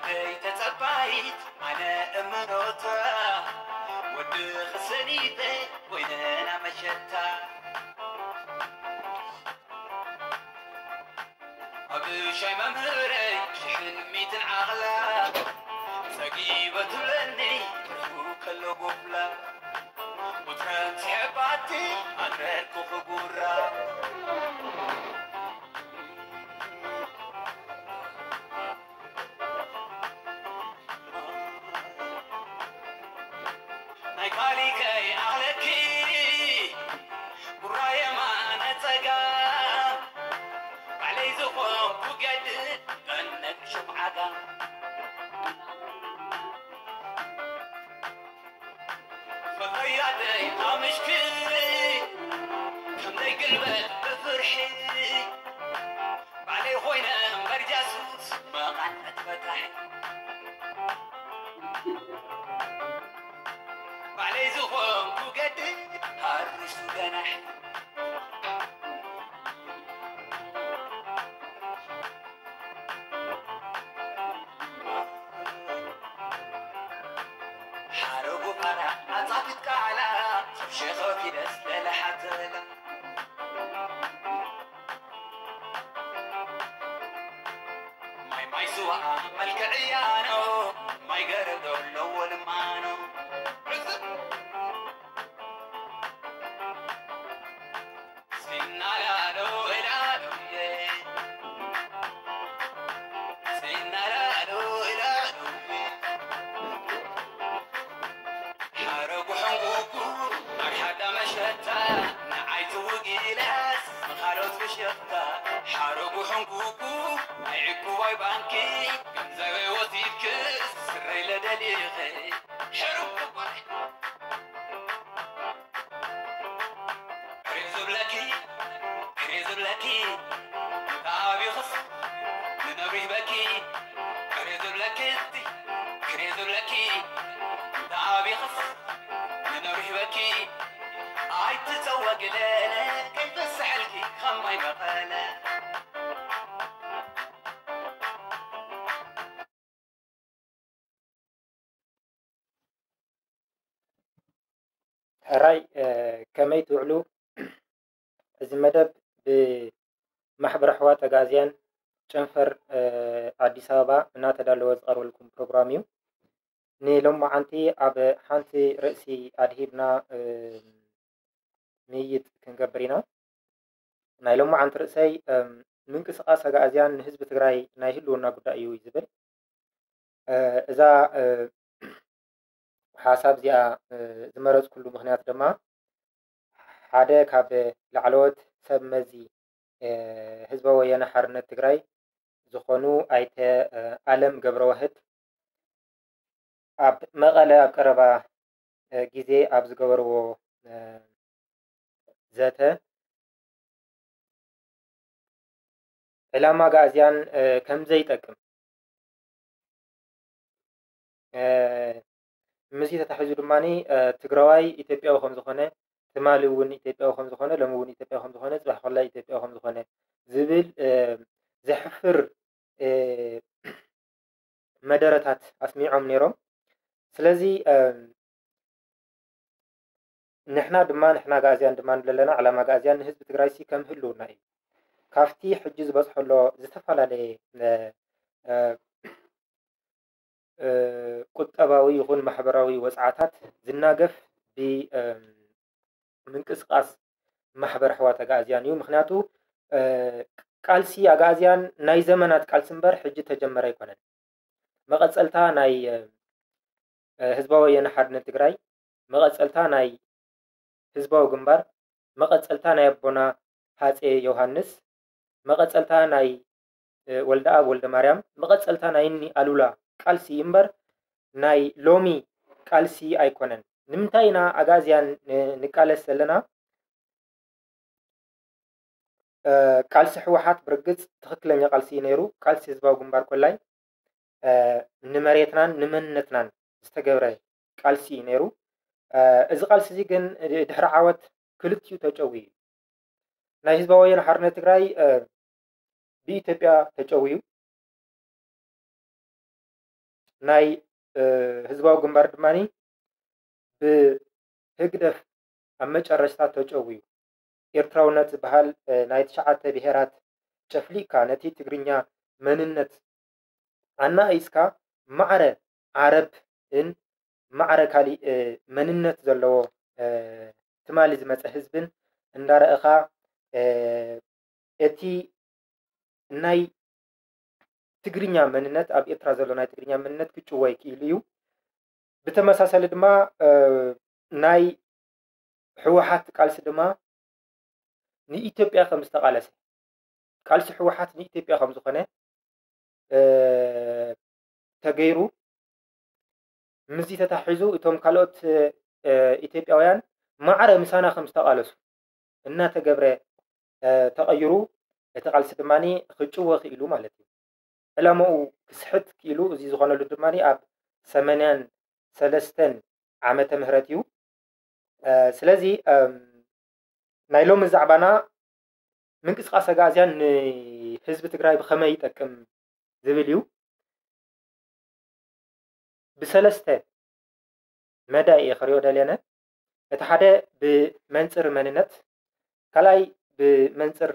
ደይ ተጸባይት ኣነ እምኖታ፣ ወዲ ክሰኒተ ኮይነና መሸታ። ኣብ ሻይ መምህረይ ሽሕን ሚትን ዓቕላ፣ ጸጊበ ትብለኒ ትርፉ ከሎ ጎፍላ። ቁጽረን ስሕባቲ ኣንረርኩ ክጉራ። ናይ ካሊከይ ኣኽለኪ ጉራ የማነ ጸጋም፣ ባዕለይ ዝኾንኩ ገድል ጠነቅ ሽምዓጋ። ፈኸያተይ ኣምሽክሪ፣ ከምዘይ ግልበጥ ብፍርሒ፣ ባዕለይ ኾይነ እምበር ጃሱስ መቓን መትፈታሒ። ባዕለይ ዝኾንኩ ገድል ሃሪሱ ገናሒ። ሓረጉ ቃና ኣጻፊት ቃላ፣ ሰብ ሸኸፊ ደስ ለለሓተላ። ማይ ማይ ስዋ መልክዕያ ነው፣ ማይ ገረብ ዶ ኣለዎ ልማኖ። ሲናላሎ እላሎዬ፣ ሲናላሎ እላሎዬ። ሓረጉ ሕንጉጉ ኣድሓዳ መሸታ፣ ንዓይ ትውጊለስ ንኻልኦት ብሸፍታ። ሓረጉ ሕንጉጉ ናይ ዕኩባይ ባንኪ፣ ገንዘበይ ወሲድክስ ስረይ ለደሊኺ። ሕሩም ክባይ። ቅሬ ዝብለኪ፣ ቅሬ ዝብለኪ፣ ተኣቢኽስ ንነብሪ በኪ። ቅሬ ዝብለኪ፣ ቅሬ ዝብለኪ፣ ተኣቢኽስ ንነብሪ በኪ። ኣይትጸወግለለ ከይፈስሐልኪ ከማይ መቐለ። ሕራይ፣ እ፣ ከመይ ትውዕሉ? እዚ መደብ ብማሕበር ኣሕዋት ኣግኣዝያን ጨንፈር፣ እ፣ ኣዲስ ኣበባ እናተዳለወ ዝቐርበልኩም ፕሮግራም እዩ። ንሎማዓንቲ ኣብ ሓንቲ ርእሲ ኣድሂብና፣ እ፣ ምይይጥ ክንገብር ኢና። ናይ ሎማዓንቲ ርእሰይ፣ እም፣ ምንቅስቓስ ኣግኣዝያን ንህዝቢ ትግራይ ናይ ህልውና ጉዳይ እዩ ዝብል። እ፣ እዛ፣ እ፣ ሓሳብ እዚኣ፣ እ፣ ዝመረጽኩሉ ምኽንያት ድማ ሓደ ካብ ላዕለዎት ሰብ መዚ፣ እ፣ ህዝባዊ ወያነ ሓርነት ትግራይ ዝኾኑ ኣይተ፣ እ፣ ኣለም ገብረዋህድ ኣብ መቐለ ኣብ ቀረባ፣ እ፣ ግዜ ኣብ ዝገበርዎ፣ እ፣ ዘተ ዕላማ ኣግኣዝያን፣ እ፣ ከም ዘይጠቅም፣ እ፣ ምስዚ ተታሒዙ ድማ፣ እ፣ ትግራዋይ ኢትዮጵያዊ ከም ዝኾነ፣ ትማሊ እውን ኢትዮጵያዊ ከም ዝኾነ፣ ሎሚ እውን ኢትዮጵያዊ ከም ዝኾነ፣ ጽባሕ ከላ ኢትዮጵያዊ ከም ዝኾነ ዝብል፣ እ፣ ዘሕፍር፣ እ፣ መደረታት ኣስሚዖም ነይሮም። ስለዚ፣ እ፣ ንሕና ድማ፣ ንሕና ኣግኣዝያን ድማ ንብለለና፣ ዕላማ ኣግኣዝያን ንህዝቢ ትግራይ ሲ ከም ህልውና እዩ። ካብቲ ሕጂ ዝበፅሖ ዘሎ ዝተፈላለየ፣ እ፣ እ፣ እ፣ ቁጠባዊ ይኹን ማሕበራዊ ወፅዓታት ዝናገፍ ብ፣ እ፣ ምንቅስቃስ ማሕበር ኣሕዋት ኣግኣዝያን እዩ። ምኽንያቱ፣ እ፣ ቃልሲ ኣግኣዝያን ናይ ዘመናት ቃልሲ እምበር ሕጂ ተጀመረ ኣይኮነን። መቐጸልታ ናይ፣ እ፣ ህዝባዊ ወያነ ሓርነት ትግራይ፣ መቐጸልታ ናይ ህዝባዊ ግንባር፣ መቐጸልታ ናይ ኣቦና ሃጼ ዮሃንስ፣ መቐጸልታ ናይ፣ እ፣ ወልደኣብ ወልደማርያም፣ መቐጸልታ ናይ እኒ ኣሉላ ቃልሲ እዩ እምበር ናይ ሎሚ ቃልሲ ኣይኮነን። ንምንታይ ኢና ኣግኣዝያን ን-፣ ንቃለስ ዘለና? እ፣ ቃልሲ ህወሓት ብርግጽ ትኽክለኛ ቃልሲ እዩ ነይሩ። ቃልሲ ህዝባዊ ግንባር ኮላይ፣ እ፣ ንመሬትናን ንመንነትናን ዝተገብረ ቃልሲ እዩ ነይሩ። እ፣ እዚ ቃልሲ እዚ ግን ድ-፣ ድሕሪ ዓወት ክልቲኡ ተጨውዩ እዩ። ናይ ህዝባዊ ወያነ ሓርነት ትግራይ፣ እ፣ ብኢትዮጵያ ተጨውዩ። ናይ ህዝባዊ ግንባር ድማ ብህግደፍ ኣብ መጨረሽታ ተጨውዩ። ኤርትራውነት ዝበሃል ናይ ትሽዓተ ብሄራት ጨፍሊቕካ ነቲ ትግርኛ መንነት ኣናኢስካ ማዕረ ዓረብን ማዕረ ካሊእ መንነት ዘለዎ ትማሊ ዝመፀ ህዝብን እንዳረእኻ እቲ ናይ ትግርኛ መንነት ኣብ ኤርትራ ዘሎ ናይ ትግርኛ መንነት ክጭወይ ክኢሉ እዩ። ብተመሳሳሊ ድማ ናይ ህወሓት ቃልሲ ድማ ንኢትዮጵያ ከም ዝተቓለሰ ቃልሲ ህወሓት ንኢትዮጵያ ከም ዝኾነ ተገይሩ ምስዚ ተታሒዙ እቶም ካልኦት ኢትዮጵያውያን ማዕረ ምሳና ከም ዝተቓለሱ እናተገብረ ተቐይሩ እቲ ቃልሲ ድማ ክጭወ ክኢሉ ማለት እዩ። ዕላማኡ ክስሕት ክኢሉ እዚ ዝኾነሉ ድማ ኣብ ሰማንያን ሰለስተን ዓመተ ምህረት እዩ። ስለዚ ናይ ሎሚ ዛዕባና ምንቅስቃስ ኣግኣዝያን ንህዝቢ ትግራይ ብኸመይ ይጠቅም ዝብል እዩ። ብሰለስተ መዳይ እየ ክሪኦ ደልየነ። እቲ ሓደ ብመንፅር መንነት፣ ካልኣይ ብመንፅር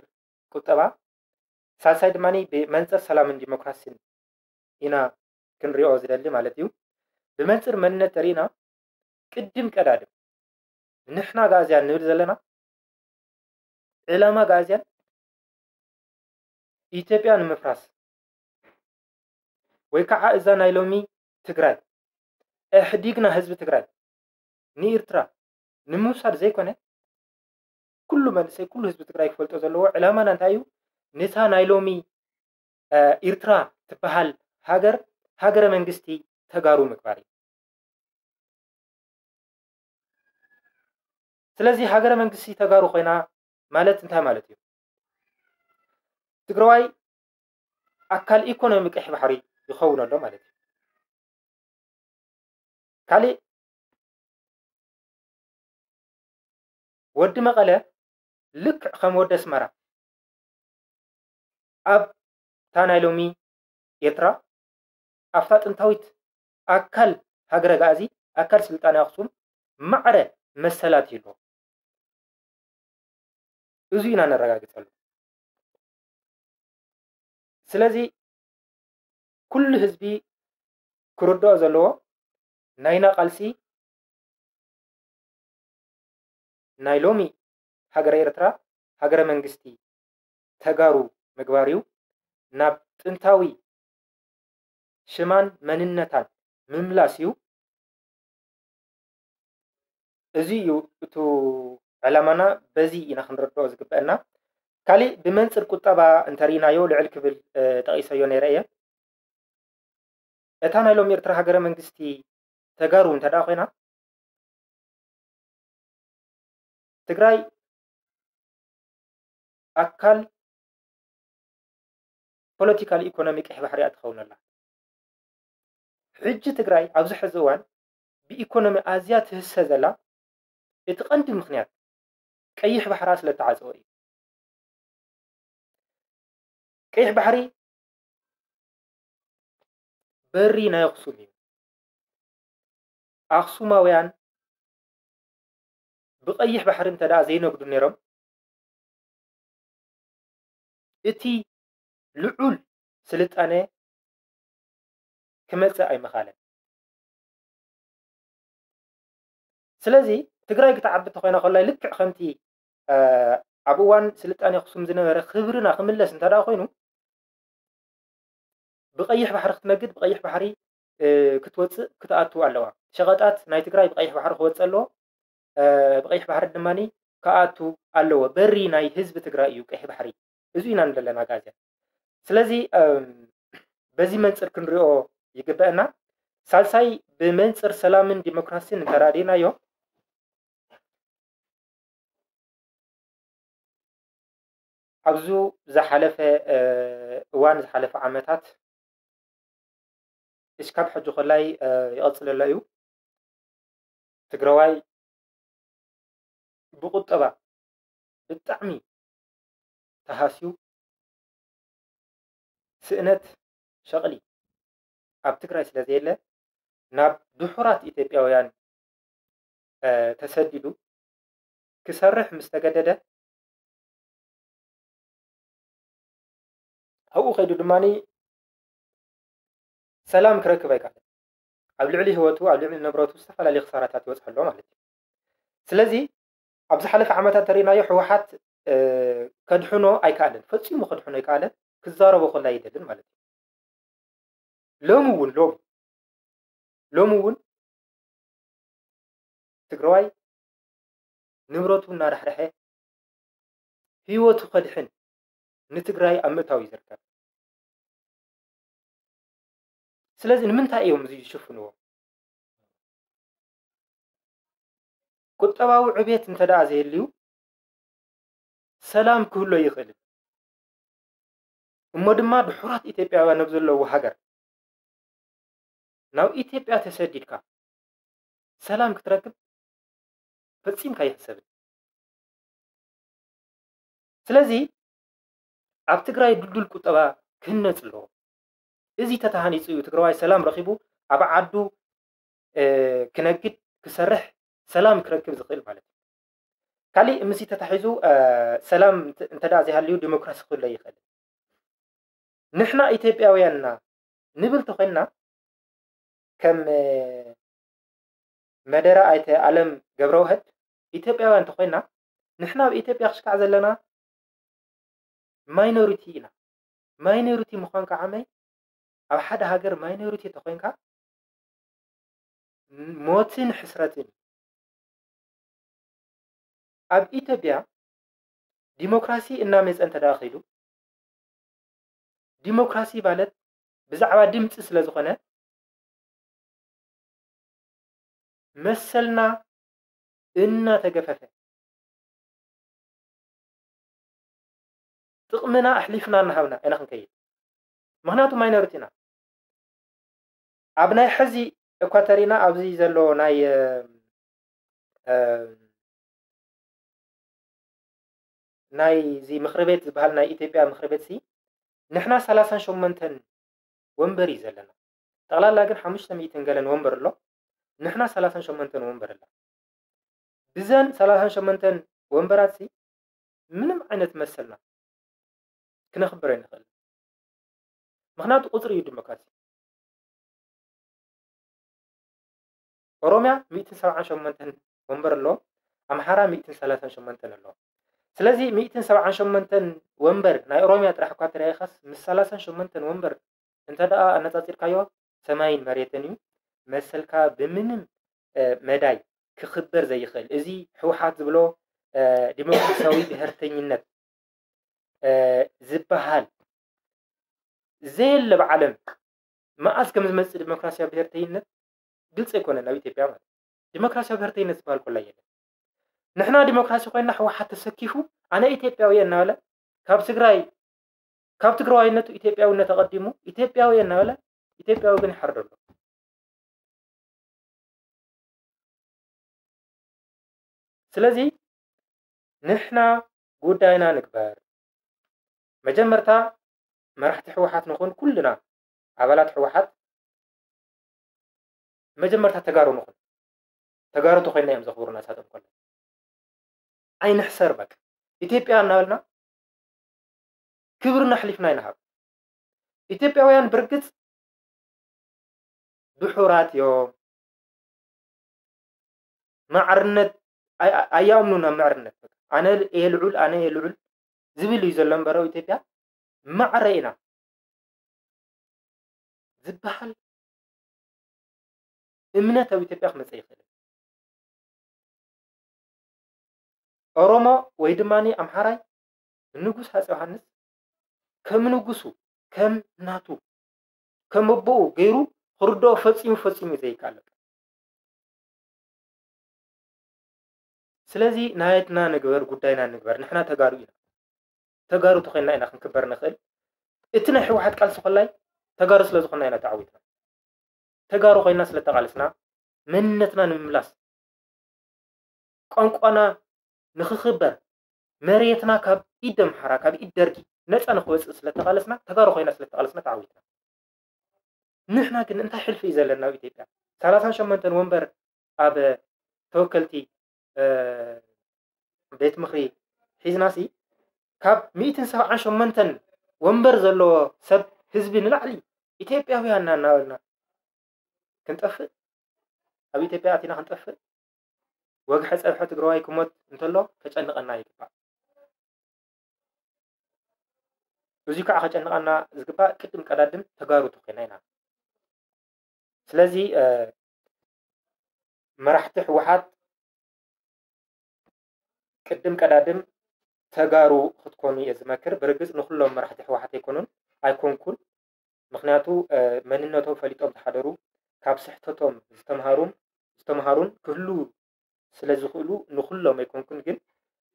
ቁጠባ፣ ሳልሳይ ድማ ብመንፅር ሰላምን ዲሞክራሲን ኢና ክንሪኦ ዝደሊ ማለት እዩ። ብመንፅር መንነት ተሪእና ቅድም ቀዳድም ንሕና ኣግኣዝያን ንብል ዘለና ዕላማ ኣግኣዝያን ኢትዮጵያ ንምፍራስ ወይ ከዓ እዛ ናይ ሎሚ ትግራይ ኣሕዲግና ህዝቢ ትግራይ ንኤርትራ ንምውሳድ ዘይኮነ ኩሉ መንእሰይ ኩሉ ህዝቢ ትግራይ ክፈልጦ ዘለዎ ዕላማና እንታይ እዩ? ነታ ናይ ሎሚ ኤርትራ ትበሃል ሃገር ሃገረ መንግስቲ ተጋሩ ምግባር እዩ። ስለዚ ሃገረ መንግስቲ ተጋሩ ኮይና ማለት እንታይ ማለት እዩ? ትግራዋይ ኣካል ኢኮኖሚ ቀይሕ ባሕሪ ይኸውን ኣሎ ማለት እዩ። ካሊእ ወዲ መቐለ ልክዕ ከም ወዲ ኣስመራ ኣብታ ናይ ሎሚ ኤርትራ ኣብታ ጥንታዊት ኣካል ሃገረ ኣግኣዚ ኣካል ስልጣነ ኣክሱም ማዕረ መሰላት ይህልዎ። እዚ ኢና ነረጋግፀሉ። ስለዚ ኩሉ ህዝቢ ክርድኦ ዘለዎ ናይና ቃልሲ ናይ ሎሚ ሃገረ ኤርትራ ሃገረ መንግስቲ ተጋሩ ምግባር እዩ። ናብ ጥንታዊ ሽማን መንነታን ምምላስ እዩ። እዚ እዩ እቱ ዕላማና፣ በዚ ኢና ክንረድኦ ዝግበአና። ካሊእ ብመንፅር ቁጠባ እንተርኢናዮ ልዕል ክብል ጠቂሰዮ ነይረ እየ። እታ ናይ ሎም ኤርትራ ሃገረ መንግስቲ ተጋሩ እንተ ደኣ ኮይና ትግራይ ኣካል ፖለቲካል ኢኮኖሚ ቀይሕ ባሕሪ እያ ትኸውን ኣላ። ሕጂ ትግራይ ኣብዚ ሕዚ እዋን ብኢኮኖሚ ኣዝያ ትህሰ ዘላ እቲ ቀንዲ ምኽንያት ቀይሕ ባሕራ ስለ እተዓፀወ እዩ። ቀይሕ ባሕሪ በሪ ናይ ኣኽሱም እዩ። ኣኽሱማውያን ብቐይሕ ባሕሪ እንተ ደኣ ዘይነግዱ ነይሮም እቲ ልዑል ስልጣነ ክመፅእ ኣይምኻለን። ስለዚ ትግራይ ክትዓቢ እንተኾይና ኮላይ ልክዕ ከምቲ ኣብ እዋን ስልጣኔ ኣኽሱም ዝነበረ ክብርና ክምለስ እንተ ደኣ ኮይኑ ብቐይሕ ባሕሪ ክትነግድ ብቐይሕ ባሕሪ ክትወፅእ ክትኣቱ ኣለዋ። ሸቐጣት ናይ ትግራይ ብቐይሕ ባሕሪ ክወፅእ ኣለዎ። ብቐይሕ ባሕሪ ድማ ክኣቱ ኣለዎ። በሪ ናይ ህዝቢ ትግራይ እዩ ቀይሕ ባሕሪ። እዚ ኢና ንደለና ኣግኣዝያን። ስለዚ በዚ መንፅር ክንሪኦ ይግበአና። ሳልሳይ ብመንፅር ሰላምን ዲሞክራሲን እንተራዲእናዮ ኣብዚ ዝሓለፈ እዋን ዝሓለፈ ዓመታት እስካብ ሕጂ ኮላይ ይቐፅለሎ እዩ። ትግራዋይ ብቁጠባ ብጣዕሚ ተሃስዩ ስእነት ሸቕሊ ኣብ ትግራይ ስለ ዘየለ ናብ ድሑራት ኢትዮጵያውያን ተሰዲዱ ክሰርሕ ምስ ተገደደ ኣብኡ ከይዱ ድማ ሰላም ክረክብ ኣይከኣለን። ኣብ ልዕሊ ህይወቱ ኣብ ልዕሊ ንብረቱ ዝተፈላለዩ ክሳራታት ይበፅሐ ኣሎ ማለት እዩ። ስለዚ ኣብ ዝሓለፈ ዓመታት ተሪእናዮ ህወሓት ከድሕኖ ኣይከኣለን፣ ፈፂሙ ከድሕኖ ኣይከኣለን፣ ክዛረቦ ከሎ ኣይደልን ማለት እዩ። ሎሚ እውን ሎሚ ሎሚ እውን ትግራዋይ ንብረቱ እናዳሕደሐ ህይወቱ ከድሕን ንትግራይ ኣብ ምእታው እዩ ዝርከብ። ስለዚ ንምንታይ እዮም እዚ ዝሽፍንዎ? ቁጠባዊ ዕቤት እንተ ደኣ ዘየልዩ ሰላም ክህሉ ኣይኽእልን። እሞ ድማ ድሑራት ኢትዮጵያውያን ኣብ ዘለዉ ሃገር ናብ ኢትዮጵያ ተሰዲድካ ሰላም ክትረክብ ፈጺምካ ኣይሕሰብን። ስለዚ ኣብ ትግራይ ድልዱል ቁጠባ ክህነፅ ኣለዎ። እዚ ተተሃኒፁ እዩ ትግራዋይ ሰላም ረኺቡ ኣብ ዓዱ ክነግድ ክሰርሕ ሰላም ክረክብ ዝኽእል ማለት እዩ። ካሊእ ምሲ ተታሒዙ ሰላም እንተዳ ዘይሃልዩ ዲሞክራሲ ክህሉ ኣይኽእልን። ንሕና ኢትዮጵያውያንና ንብል ተኾይንና ከም መደረ ኣይተ ኣለም ገብረውህድ ኢትዮጵያውያን ተኾይንና ንሕና ኣብ ኢትዮጵያ ክሽካዕ ዘለና ማይኖሪቲ ኢና። ማይኖሪቲ ምዃን ከዓመይ ኣብ ሓደ ሃገር ማይኖሪቲ ተኾይንካ ሞትን ሕስረትን። ኣብ ኢትዮጵያ ዲሞክራሲ እናመፀ እንተ ደኣ ኸይዱ ዲሞክራሲ ማለት ብዛዕባ ድምፂ ስለ ዝኾነ መሰልና እናተገፈፈ ጥቕምና ኣሕሊፍና እናሃብና ኢና ክንከይድ። ምኽንያቱ ማይኖሪቲ ኢና። ኣብ ናይ ሕዚ እኳ ተሪና ኣብዚ ዘሎ ናይ ናይዚ ምኽሪ ቤት ዝበሃል ናይ ኢትዮጵያ ምኽሪ ቤት ሲ ንሕና ሰላሳን ሸሞንተን ወንበር እዩ ዘለና። ጠቕላላ ግን ሓሙሽተ ሚእትን ገለን ወንበር ኣሎ። ንሕና ሰላሳን ሸሞንተን ወንበር ኣላ። ብዘን ሰላሳን ሸሞንተን ወንበራት ሲ ምንም ዓይነት መሰልና ክነኽብር ኣይንኽእል። ምኽንያቱ ቁፅሪ እዩ ዲሞክራሲ። ኦሮምያ ሚእትን ሰብዓን ሸሞንተን ወንበር ኣሎ፣ ኣምሓራ ሚእትን ሰላሳን ሸሞንተን ኣሎ። ስለዚ ሚእትን ሰብዓን ሸሞንተን ወንበር ናይ ኦሮምያ ጥራሕ እኳ ተረኢኻስ ምስ ሰላሳን ሸሞንተን ወንበር እንተ ደኣ ኣነፃፂርካዮ ሰማይን መሬትን እዩ። መሰልካ ብምንም መዳይ ክኽበር ዘይኽእል እዚ ህወሓት ዝብሎ ዲሞክራሲያዊ ብሄርተኝነት ዝበሃል ዘየለ ብዓለም መኣስ ከም ዝመፅእ ዲሞክራሲያዊ ብሄርተይነት ግልፂ ኣይኮነን ኣብ ኢትዮጵያ ማለት ዲሞክራሲያዊ ብሄርተይነት ዝበሃል ኮላ የለን። ንሕና ዲሞክራሲ ኮይና ህወሓት ተሰኪፉ ኣነ ኢትዮጵያዊ እየ እናበለ ካብ ትግራይ ካብ ትግራዋይነቱ ኢትዮጵያዊነት ኣቐዲሙ ኢትዮጵያዊ እየ እናበለ ኢትዮጵያዊ ግን ይሓርድ ኣሎ። ስለዚ ንሕና ጉዳይና ንግበር። መጀመርታ መራሕቲ ህወሓት ንኹን ኩልና ኣባላት ህወሓት መጀመርታ ተጋሩ ንኹን። ተጋሩ ተኮይና እዮም ዘኽብሩና እሳቶም ኮለ ኣይንሕሰር በቃ ኢትዮጵያ እናበልና ክብርና ኣሕሊፍና ኣይንሃብ። ኢትዮጵያውያን ብርግፅ ድሑራት እዮም። ማዕርነት ኣይ- ኣይ- ኣያምኑን ኣብ ማዕርነት ኣነ እየ ልዑል ኣነ እየ ልዑል ዝብል እዩ ዘሎ እምበር ኣብ ኢትዮጵያ ማዕረ ኢና ዝበሃል እምነት ኣብ ኢትዮጵያ ክመፀ ይኽእል። ኦሮሞ ወይ ድማ ኣምሓራይ ንጉስ ሃፀ ዮሃንስ ከም ንጉሱ ከም ናቱ ከም ኣቦኡ ገይሩ ክርድኦ ፈፂሙ ፈፂሙ ዘይከኣል። ስለዚ ናየትና ንግበር ጉዳይና ንግበር ንሕና ተጋሩ ኢና። ተጋሩ ተኮይና ኢና ክንክበር ንኽእል። እቲ ናይ ህወሓት ቃልሲ ኮላይ ተጋሩ ስለ ዝኾንና ኢና ተዓዊትና። ተጋሩ ኮይና ስለ ተቓለስና መንነትና ንምምላስ ቋንቋና ንኽኽበር መሬትና ካብ ኢድ ኣምሓራ ካብ ኢድ ደርጊ ነፃ ንክወፅእ ስለ ተቓለስና ተጋሩ ኮይና ስለ ተቓለስና ተዓዊትና። ንሕና ግን እንታይ ሕልፊ እዩ ዘለና ኣብ ኢትዮጵያ? ሰላሳን ሸሞንተን ወንበር ኣብ ተወከልቲ ቤት ምኽሪ ሒዝናሲ፣ ካብ ሚእትን ሰብዓን ሸሞንተን ወንበር ዘለዎ ሰብ፣ ህዝቢ ንላዕሊ ኢትዮጵያውያን ኢና እናበልና ክንጠፍእ፣ ኣብ ኢትዮጵያ ኣቲና ክንጠፍእ፣ ወግሐ ጸብሐ ትግራዋይ ክሞት እንተሎ ከጨንቐና ይግባእ። እዚ ከዓ ከጨንቐና ዝግባእ ቅድም ቀዳድም ተጋሩ ተኾይና ኢና። ስለዚ መራሕቲ ህወሓት ቅድም ቀዳድም ተጋሩ ክትኮኑ እየ ዝመክር። ብርግፅ ንኩሎም መራሕቲ ህወሓት ኣይኮኑን፣ ኣይኮንኩን። ምክንያቱ መንነቶም ፈሊጦም ዝሓደሩ፣ ካብ ስሕተቶም ዝተምሃሩም ዝተምሃሩን ክህሉ ስለ ዝኽእሉ ንኩሎም ኣይኮንኩን። ግን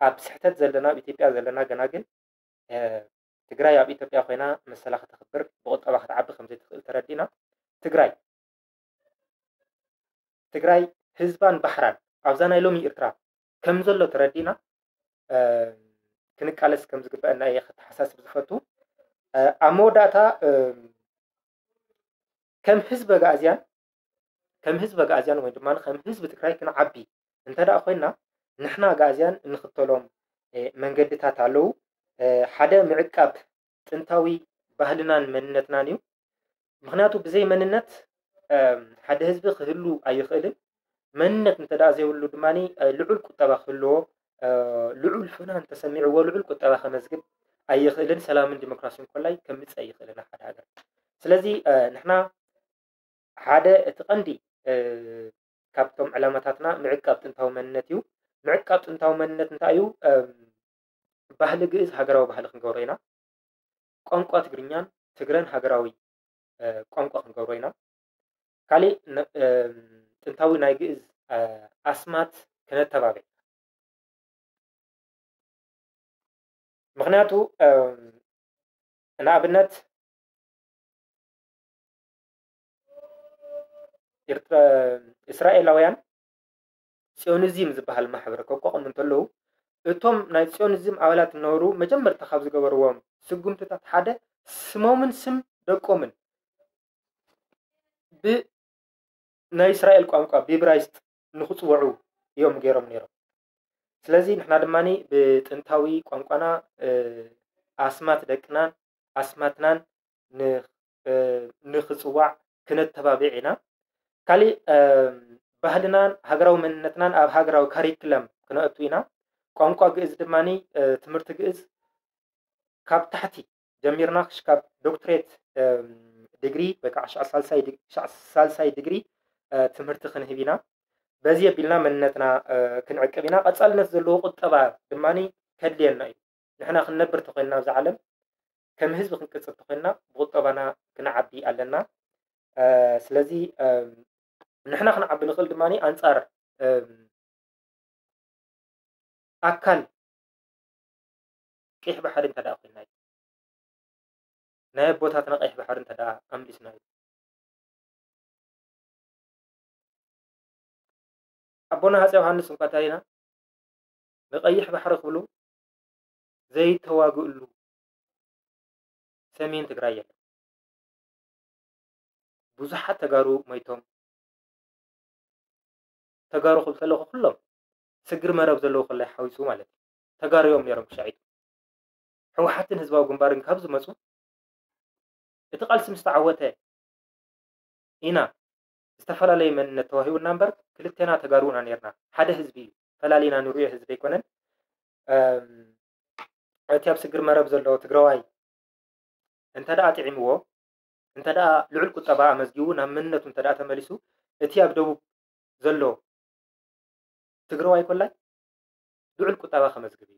ኣብ ስሕተት ዘለና፣ ኣብ ኢትዮጵያ ዘለና ገና ግን ትግራይ ኣብ ኢትዮጵያ ኮይና መሰላ ከተኽብር፣ ብቁጠባ ክትዓቢ ከምዘይትኽእል ተረዲእና፣ ትግራይ ትግራይ ህዝባን ባሕራን ኣብዛ ናይ ሎሚ ኤርትራ ከም ዘሎ ተረዲእና ክንቃለስ ከም ዝግበአና እየ ከተሓሳስብ ዝፈቱ። ኣብ መወዳእታ ከም ህዝቢ ኣግኣዝያን ከም ህዝቢ ኣግኣዝያን ወይ ድማ ከም ህዝቢ ትግራይ ክንዓቢ እንተ ደኣ ኮይና፣ ንሕና ኣግኣዝያን እንኽተሎም መንገድታት ኣለዉ። ሓደ ምዕቃብ ጥንታዊ ባህልናን መንነትናን እዩ። ምክንያቱ ብዘይ መንነት ሓደ ህዝቢ ክህሉ ኣይኽእልን። መንነት እንተ ደኣ ዘይብሉ ድማ ልዑል ቁጠባ ክህልዎ፣ ልዑል ፍናን ተሰሚዕዎ ልዑል ቁጠባ ከመዝግብ ኣይኽእልን። ሰላምን ዲሞክራሲን ኮላይ ከምፅእ ኣይኽእልን ሓደ ሃገር። ስለዚ ንሕና ሓደ እቲ ቀንዲ ካብቶም ዕላማታትና ምዕቃብ ጥንታዊ መንነት እዩ። ምዕቃብ ጥንታዊ መንነት እንታይ እዩ? ባህሊ ግእዝ ሃገራዊ ባህሊ ክንገብሮ ኢና። ቋንቋ ትግርኛን ትግረን ሃገራዊ ቋንቋ ክንገብሮ ኢና። ካሊእ ጥንታዊ ናይ ግእዝ ኣስማት ክነተባብዕ። ምክንያቱ ንኣብነት እስራኤላውያን ጽዮኒዝም ዝበሃል ማሕበር ከቋቑሙ እንተለዉ፣ እቶም ናይ ጽዮኒዝም ኣባላት ዝነበሩ መጀመርታ ካብ ዝገበርዎም ስጉምትታት ሓደ ስሞምን ስም ደቆምን ብ ናይ እስራኤል ቋንቋ ብኢብራይስጥ ንኽጽውዑ እዮም ገይሮም ነይሮም። ስለዚ ንሕና ድማ ብጥንታዊ ቋንቋና ኣስማት ደቅናን ኣስማትናን ንኽጽዋዕ ክነተባብዕ ኢና። ካሊእ ባህልናን ሃገራዊ መንነትናን ኣብ ሃገራዊ ካሪክለም ክነእቱ ኢና። ቋንቋ ግእዝ ድማ ትምህርቲ ግእዝ ካብ ታሕቲ ጀሚርና ክሽካብ ዶክትሬት ዲግሪ ወይ ከዓ ሳልሳይ ዲግሪ ትምህርቲ ክንህብ ኢና። በዚ ኣቢልና መንነትና ክንዕቅብ ኢና። ቀፃልነት ዘለዎ ቁጠባ ድማ ከድልየና እዩ። ንሕና ክንነብር ተኮይንና ኣብዛ ዓለም ከም ህዝቢ ክንቅፅል ተኮይንና ብቁጠባና ክንዓቢ ኣለና። ስለዚ ንሕና ክንዓቢ ንኽእል ድማ ኣንፃር ኣካል ቀይሕ ባሕሪ እንተ ደኣ ኮይና እዩ። ናይ ኣቦታትና ቀይሕ ባሕሪ እንተ ደኣ ኣምሊስና እዩ። ኣቦና ሃፀ ዮሃንስ እንኳ እንተሪና ንቀይሕ ባሕሪ ክብሉ ዘይተዋግእሉ ሰሜን ትግራይ የለን። ብዙሓት ተጋሩ ሞይቶም። ተጋሩ ክብል ከለኹ ኩሎም ስግር መረብ ዘለዉ ከላይ ሓዊሱ ማለት እዩ። ተጋሩ እዮም ነይሮም ክሻዒቱ። ህወሓትን ህዝባዊ ግንባርን ካብ ዝመፁ እቲ ቃልሲ ምስ ተዓወተ ኢና ዝተፈላለየ መንነት ተዋሂቡና እምበር ክልቴና ተጋሩ ኢና ነይርና። ሓደ ህዝቢ እዩ። ፈላሊና ንሪኦ ህዝቢ ኣይኮነን። እቲ ኣብ ስግር መረብ ዘሎ ትግራዋይ እንተ ደኣ ጥዒምዎ፣ እንተ ደኣ ልዑል ቁጠባ ኣመዝጊቡ ናብ መንነቱ እንተ ደኣ ተመሊሱ፣ እቲ ኣብ ደቡብ ዘሎ ትግራዋይ ኮላይ ልዑል ቁጠባ ከመዝግብ እዩ።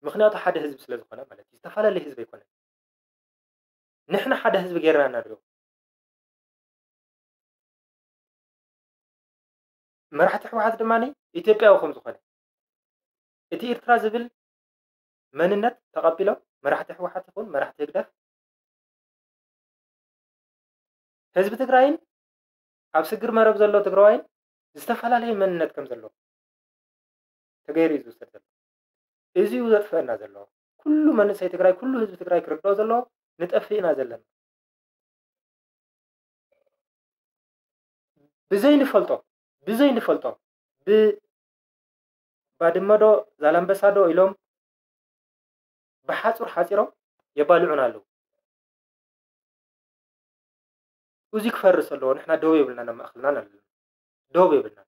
ምክንያቱ ሓደ ህዝቢ ስለ ዝኾነ ማለት እዩ። ዝተፈላለየ ህዝቢ ኣይኮነን። ንሕና ሓደ ህዝቢ ጌርና ኢና ንሪኦ። መራሕቲ ህወሓት ድማ ኢትዮጵያዊ ከም ዝኾነ እቲ ኤርትራ ዝብል መንነት ተቐቢሎም መራሕቲ ህወሓት ይኹን መራሕቲ ህግደፍ ህዝቢ ትግራይን ኣብ ስግር መረብ ዘሎ ትግራዋይን ዝተፈላለየ መንነት ከም ዘለዎ ተገይሩ እዩ ዝውሰድ ዘሎ። እዚ እዩ ዘጥፈአና ዘሎ። ኩሉ መንእሰይ ትግራይ፣ ኩሉ ህዝቢ ትግራይ ክርድኦ ዘለዎ ንጠፍእ ኢና ዘለና። ብዘይንፈልጦ ብዘይንፈልጦ ብባድመ ዶ ዛላምበሳ ዶ ኢሎም ብሓፁር ሓፂሮም የባልዑን ኣለዉ። እዚ ክፈርስ ኣለዎ። ንሕና ደው የብልናን ኣብ ማእኸልናን ኣለና። ደው የብልናን።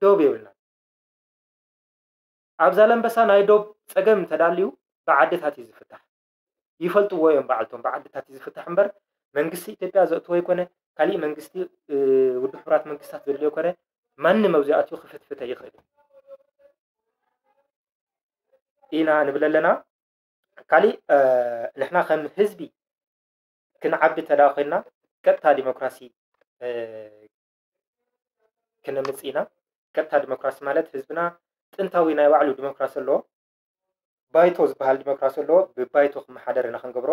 ደው የብልናን። ኣብ ዛላምበሳ ናይ ዶብ ፀገም እንተዳልዩ ብዓድታት እዩ ዝፍታሕ። ይፈልጥዎ እዮም በዓልቶም ብዓድታት እዩ ዝፍታሕ እምበር መንግስቲ ኢትዮጵያ ዘእትዎ ኣይኮነ፣ ካሊእ መንግስቲ ውድብ ሕቡራት መንግስታት ዘድልዮ ኮነ፣ ማንም ኣብዚኣትዩ ክፍትፍት ኣይኽእል ኢና ንብል ኣለና። ካሊእ ንሕና ከም ህዝቢ ክንዓቢ ተዳ ኮይና ቀጥታ ዲሞክራሲ ክነምፅ ኢና። ቀጥታ ዲሞክራሲ ማለት ህዝብና ጥንታዊ ናይ ባዕሉ ዲሞክራሲ ኣለዎ። ባይቶ ዝበሃል ዲሞክራሲ ኣለዎ። ብባይቶ ክመሓደር ኢና ክንገብሮ።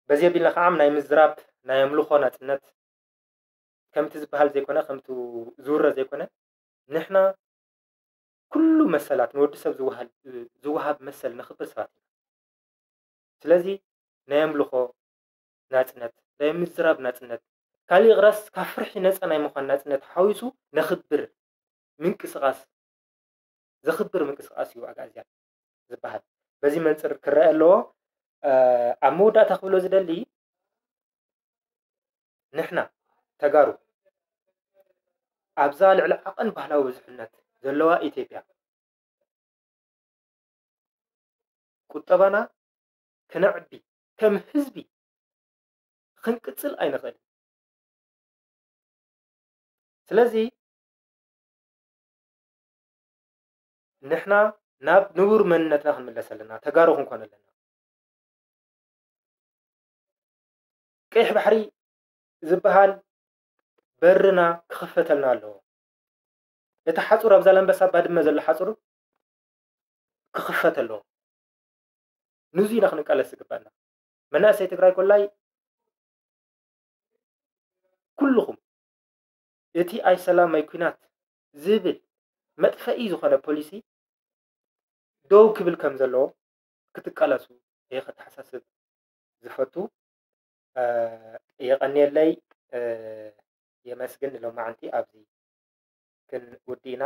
በዚ ኣቢልና ከዓ ናይ ምዝራብ ናይ ኣምልኾ ናፅነት ከምቲ ዝበሃል ዘይኮነ ከምቲ ዝውረ ዘይኮነ ንሕና ኩሉ መሰላት ንወዲ ሰብ ዝወሃብ መሰል ነኽብር ሰባት ኢና። ስለዚ ናይ ኣምልኾ ናፅነት ናይ ምዝራብ ናፅነት ካሊእ ቅረስ ካብ ፍርሒ ነፃ ናይ ምዃን ናፅነት ሓዊሱ ነኽብር ምንቅስቃስ ዘኽብር ምንቅስቃስ እዩ ኣግኣዝያን ዝበሃል። በዚ መንፅር ክረአ ኣለዎ። ኣብ መወዳእታ ክብሎ ዝደሊ ንሕና ተጋሩ ኣብዛ ልዕሊ ዓቐን ባህላዊ ብዙሕነት ዘለዋ ኢትዮጵያ ቁጠባና ክነዕቢ ከም ህዝቢ ክንቅፅል ኣይንኽእል። ስለዚ ንሕና ናብ ንቡር መንነትና ክንምለስ ኣለና፣ ተጋሩ ክንኮን ኣለና። ቀይሕ ባሕሪ ዝበሃል በርና ክኽፈተልና ኣለዎ። እቲ ሓፁር ኣብ ዛላምበሳ ባድመ ዘሎ ሓፁር ክኽፈት ኣለዎ። ንዙ ኢና ክንቃለስ ዝግባና። መናእሰይ ትግራይ ኮላይ ኩልኹም እቲ ኣይ ሰላም ኣይ ኩናት ዝብል መጥፈኢ ዝኾነ ፖሊሲ ደው ክብል ከም ዘለዎ ክትቃለሱ እየ ከተሓሳስብ ዝፈቱ። የቐንየለይ። የመስግን። ንሎማዓንቲ ኣብዚ ክንውዲ ኢና።